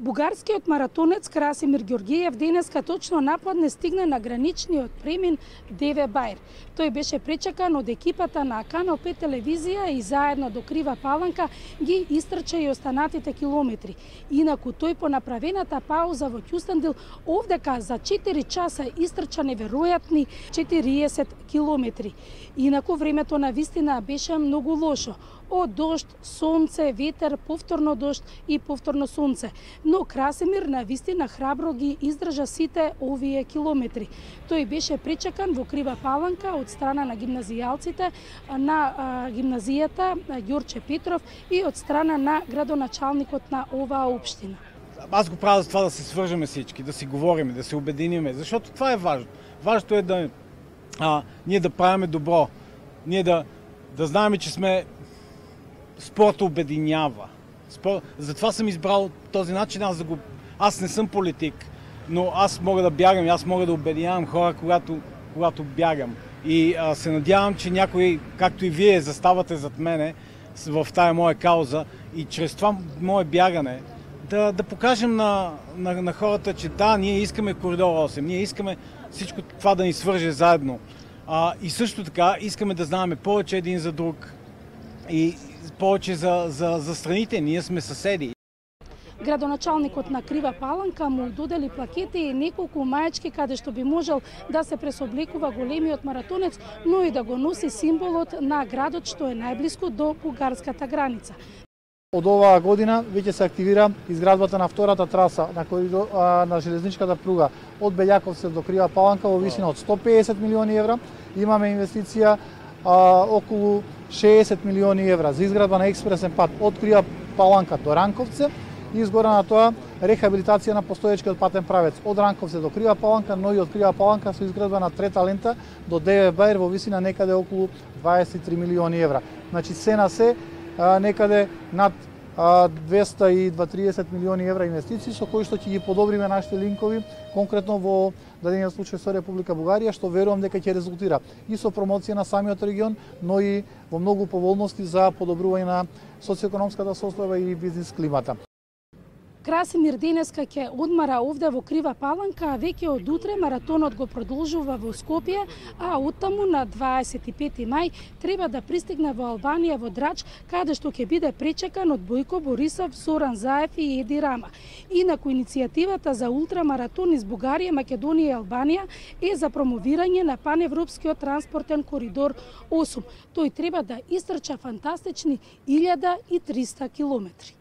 Бугарскиот маратонец Красимир Ѓорѓиев денеска точно на подне стигна на граничниот премин Деве Бајр. Тој беше пречекан од екипата на Канал 5 телевизија и заедно до Крива Паланка ги истрча и останатите километри. Инаку тој по направената пауза во Кјустендил овдека за 4 часа истрча неверојатни 40 километри. Инаку времето на вистина беше многу лошо. Од дожд, сонце, ветер, повторно дожд и повторно сонце. Но Красимир на вистина храбро ги издржа сите овие километри. Тој беше пречекан во Крива Паланка од страна на гимназијалците на гимназијата Ѓорче Петров и од страна на градоначалникот на оваа општина. Аз го правя за това да се свържеме всички, да си говориме, да се обединиме, защото това е важно. Важното е да ние да правиме добро, ние да знаеме, че сме спорт обединява. Затова съм избрал този начин. Аз не съм политик, но аз мога да бягам, аз мога да обединявам хора, когато бягам. И се надявам, че някой, както и вие, заставате зад мене в тая моя кауза и чрез това мое бягане да покажем на хората, че да, ние искаме коридор 8, ние искаме всичко това да ни свърже заедно. И също така искаме да знаем повече един за друг и повече за страните, ние сме съседи. Градоначалникот на Крива Паланка му додели плакети и неколку маечки каде што би можел да се пресоблекува големиот маратонец, но и да го носи символот на градот што е најблиску до бугарската граница. Од оваа година веќе се активира изградбата на втората траса на железничката пруга од Белјаковци до Крива Паланка во висина од 150 милиони евра. Имаме инвестиција околу 60 милиони евра за изградба на експресен пат од Крива Паланка до Ранковце и изгора на тоа рехабилитација на постоечкиот патен правец од Ранковце до Крива Паланка, но и од Крива Паланка со изградба на трета лента до Деве Бајр во висина некаде околу 23 милиони евра. Значи се на се некаде над 230 милиони евра инвестиции со кои што ќе ги подобриме нашите линкови, конкретно во дадениот случај со Република Бугарија, што верувам дека ќе резултира и со промоција на самиот регион, но и во многу поволности за подобрување на социоекономската состојба и бизнис климата. Красимир денеска ќе одмара овде во Крива Паланка, а веќе од утре маратонот го продолжува во Скопје, а оттаму на 25 мај треба да пристигне во Албанија во Драч, каде што ќе биде пречекан од Бојко Борисов, Зоран Заев и Еди Рама. Инаку иницијативата за ултрамаратон из Бугарија, Македонија и Албанија е за промовирање на паневропскиот транспортен коридор 8. Тој треба да истрча фантастични 1300 километри.